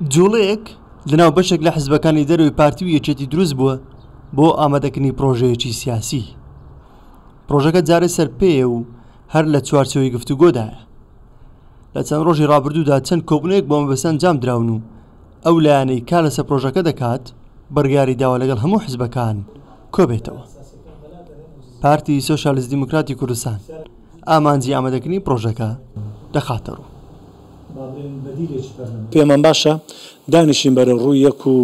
جوڵەیەک لەناو بەشێک لە حزبەکانی دەرەوەی پارتی و یەکێتی دروست بووە بۆ ئامادەکردنی پرۆژەیەکی سیاسی. پرۆژەکە جارێ سەرپێیە و هەر لە چوارچێوەی گفتوگۆدایە. لە چەند ڕۆژی ڕابردوودا چەند کۆبوونەوەیەک بۆ مەبەستە ئەنجام دراون و ئەو لایەنەی کار لەسەر پرۆژەکە دەکات بڕیاری داوە لەگەڵ هەموو حزبەکان کۆبێتەوە. پارتی سۆسیالیست دیموکراتی کوردستان ئامانجی ئامادەکردنی پرۆژەکە دەخاتە ڕوو. پێمان باشە دانیشین بەرەو ڕووی یەک و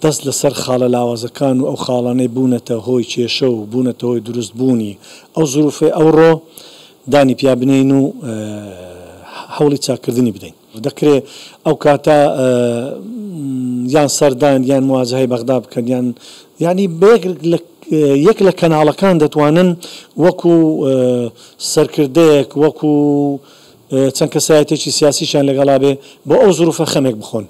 دەست لەسەر خاڵە لاوازەکان و ئەو خاڵانەی بوونەتە هۆی کێشە و بوونەتە هۆی دروست بوونی ئەو زروفەی ئەوڕۆ دانی پیا بنێین و هەوڵی چاککردنی بدەین. دەکرێ ئەو کاتە یان سەردان یان مواجەهەی بەغدا بکەن یان یانی بە یەک لە یەک لە کەناڵەکان دەتوانن وەکو سەرکردەیەک وەکو چەند کەسایەتێکی سیاسیشیان لەگەڵا بێ بۆ ئەو زروفە خەمێک بخۆن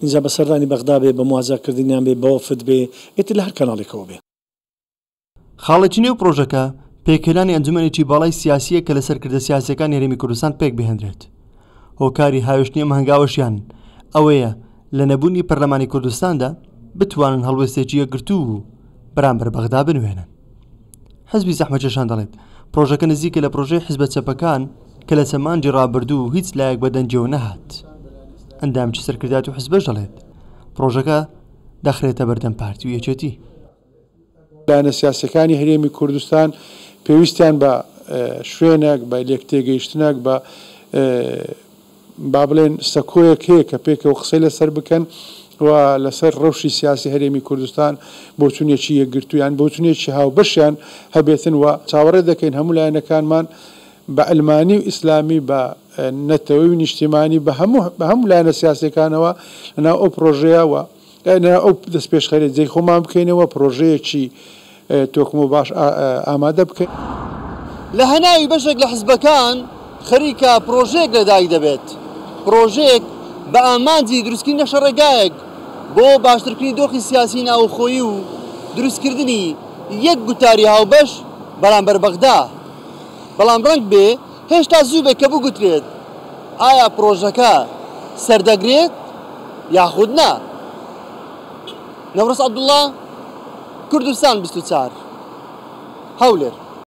ئینجا بە سەردانی بەغدا بێ بە مواجەکردنیان بێ بە وەفد بێ ئیتر لە هەر کەناڵێکەوە بێ. خاڵێکی نێو پڕۆژەکە پێکهێنانی ئەنجومەنێکی باڵای سیاسییە کە لە سەرکردە سیاسییەکانی هەرێمی کوردستان پێکبهێنرێت. هۆکاری هاوێشتنی ئەم هەنگاوەشیان ئەوەیە لە نەبوونی پەرلەمانی کوردستاندا بتوانن هەڵوێستێکی یەکگرتوو بەرامبەر بەغدا بنوێنن. حزبی زەحمەتکێشان دەڵێت، پڕۆژەکە نزیکە لە پڕۆژەی حزبە چەپەکان کە لە چەند مانگی ڕابردوو هیچ لایەک بە دەنگیەوە نەهات. ئەندامێکی سەرکردایەتی حزبەش دەڵێت، پڕۆژەکە دەخرێتە بەردەم پارتی و یەکێتی. لایەنە سیاسیەکانی هەرێمی کوردستان پێویستیان بە شوێنێک، بە لێکتێگەیشتنێک، بە با بڵێن سەکۆیەک هەیە کە پێکەوە قسەی لەسەر بکەن و لەسەر ڕەوشی سیاسی هەرێمی کوردستان بۆچونێکی یەکگرتوو یان بۆچونێکی هاوبەشیان هەبێتن و چاوەڕێ دەکەین هەموو لایەنەکانمان بە عەلمانی و ئیسلامی بە نەتەوەی و نیشتیمانی بە هەموو بە هەموو لایەنە سیاسیەکانەوە لەناو ئەو پڕۆژەیە و ئەو دەستپێشخەریە جێی خۆمان بکەینەوە، پڕۆژەیەکی تۆکمە و باش ئامادە بکەین. لە هەناوی بەشێک لە حزبەکان خەریکە پڕۆژەیەک لەدایک دەبێت، پڕۆژەیەک بە ئامانجی دروستکردنی نەخشەڕێگایەک بۆ باشترکردنی دۆخی سیاسی ناوخۆیی و دروستکردنی یەک گوتاری هاوبەش بەرامبەر بەغدا، بەڵام ڕەنگبێ هێشتا زوو بێت کە بگوترێت ئایا پڕۆژەکە سەردەگرێت یاخود نا؟ نەورۆز عەبدوڵا، کوردستان 24، هەولێر.